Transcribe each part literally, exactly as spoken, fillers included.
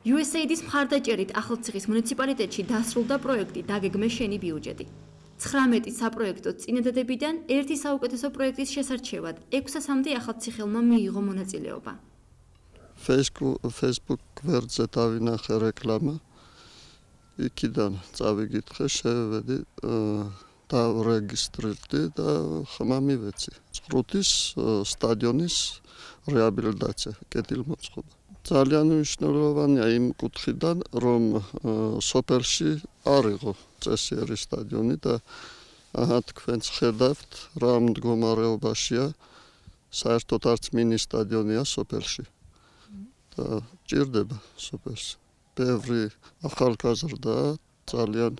იუ ეს ეი დის მხარდაჭერით ახალციხის მუნიციპალიტეტში დასრულდა პროექტი „დაგეგმე შენი ბიუჯეტი“. ცხრამეტი საპროექტო წინადადებიდან ერთი საუკეთესო პროექტის შესარჩევად ექვსასამდე ახალციხელმა მიიღო მონაწილეობა. Facebook გვერდზე დავინახე რეკლამა. იქიდან წავიკითხე, შევედი, დავრეგისტრირდი და ხმა მივეცი. წყრუთის სტადიონის რეაბილიტაცია, კეთილმოწყობა. ძალიან მნიშვნელოვანია იმ კუთხიდან, რომ სოფელში არ იყო წესიერი სტადიონი და აჰა თქვენც ხედავთ, რა მდგომარეობაშია, საერთოდ არც მინი სტადიონია სოფელში. და ჭირდება სოფელში. ბევრი ახალგაზრდა ძალიან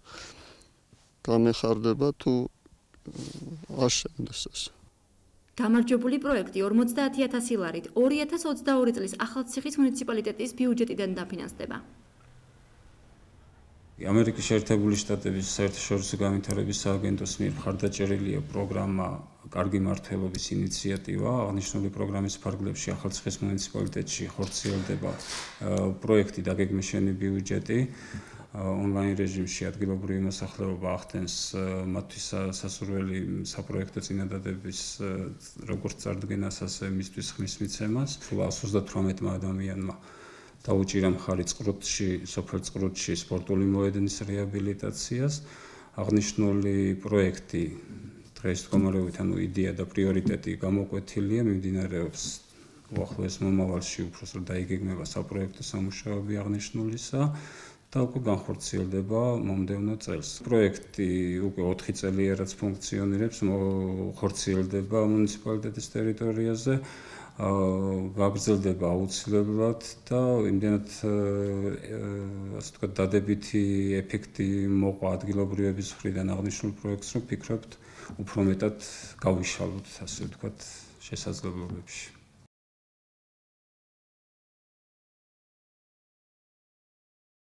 გამეხარდება თუ აშენდეს ეს. გამარჯვებული პროექტი ორმოცდაათი ათასი ლარით ორი ათას ოცდაორი წლის ახალციხის მუნიციპალიტეტის ბიუჯეტიდან დაფინანსდება. ამერიკის შეერთებული შტატების საერთაშორისო განვითარების სააგენტოს მიერ მხარდაჭერილია პროგრამა „კარგი მართლობის ინიციატივა“. აღნიშნული პროგრამის ფარგლებში ახალციხის მუნიციპალიტეტში ხორციელდება პროექტი „დაგეგმე შენი ბიუჯეტი“. ონლაინ რეჟიმში ადგილობრივი მოსახლეობა ახდენს მათთვის სასურველი საპროექტო წინადადების როგორც წარდგენას, ასე მისთვის ხმის მიცემას. სულ εκατს ოცდათვრამეტმა ადამიანმა დაუჭირა მხარი წყრუთში, სოფელ წყრუთში სპორტული მოედნის რეაბილიტაციას. აღნიშნული პროექტი დღეს მდგომარეობით, ანუ იდეა და პრიორიტეტი გამოკვეთილია, მიმდინარეობს უახლოეს მომავალში უბრალოდ დაიგეგმება საპროექტო სამუშაოები აღნიშნულისა და უკვე განხორციელდება მომდევნო წელს. პროექტი უკვე ოთხი წელია რაც ფუნქციონირებს, ხორციელდება მუნიციპალიტეტის ტერიტორიაზე. გაგრძელდება აუცილებლად და იმდენად ასე ვთქვათ დადებითი ეფექტი მოყვა ადგილობრივების მხრიდან აღნიშნულ პროექტს, რომ ფიქრობთ უფრო მეტად გავიშალოთ, ასე ვთქვათ, შესაძლებლობებში.